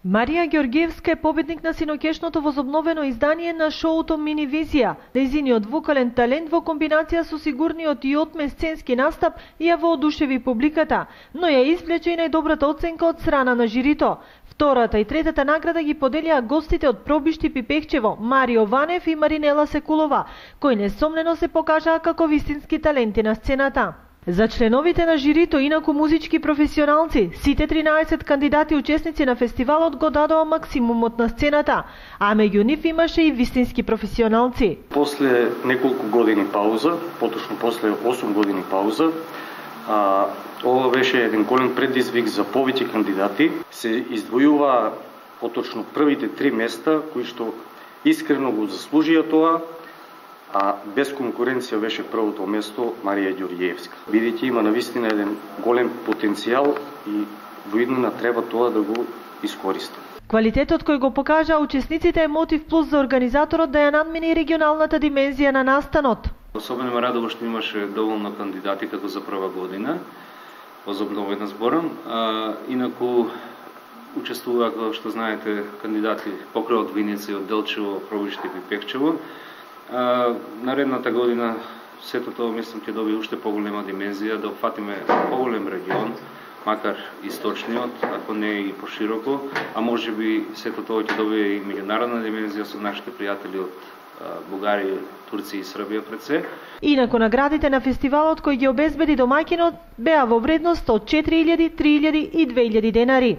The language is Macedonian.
Марија Ѓоргиевска е победник на синоќешното возобновено издание на шоуто Минивизија. Нејзиниот вокален талент во комбинација со сигурниот и отмен сценски настап ја воодушеви публиката, но ја извлече и најдобрата оценка од страна на жирито. Втората и третата награда ги поделија гостите од Пробишти Пипехчево, Марио Ванев и Маринела Секулова, кои несомнено се покажаа како вистински таленти на сцената. За членовите на жирито, инаку музички професионалци, сите 13 кандидати учесници на фестивалот го дадоа максимумот на сцената, а меѓу нив имаше и вистински професионалци. После неколку години пауза, поточно после 8 години пауза, ова беше еден голем предизвик за повеќе кандидати. Се издвојува поточно првите 3 места кои што искрено го заслужија тоа, а без конкуренција беше првото место Марија Ѓоргиевска. Бидејќи има навистина еден голем потенцијал и во иднина треба тоа да го искористи. Квалитетот кој го покажа учесниците е мотив плюс за организаторот да ја надмине регионалната димензија на настанот. Особено ме радува што имаше доволно кандидати како за прва година, возобновена зборам. Инаку учествуваа, како што знаете, кандидати покрај од Виница и од Делчево, Пробишти и Пипехчево. Наредната година сето тоа мислам ќе добие уште поголема димензија, да опфатиме поголем регион, макар источниот, ако не и пошироко, а можеби сето тоа ќе добие и меѓународна димензија со нашите пријатели од Бугарија, Турција и Србија пред се. Инаку наградите на фестивалот кој ги обезбеди домаќинот беа во вредност од 4000, 3000 и 2000 денари.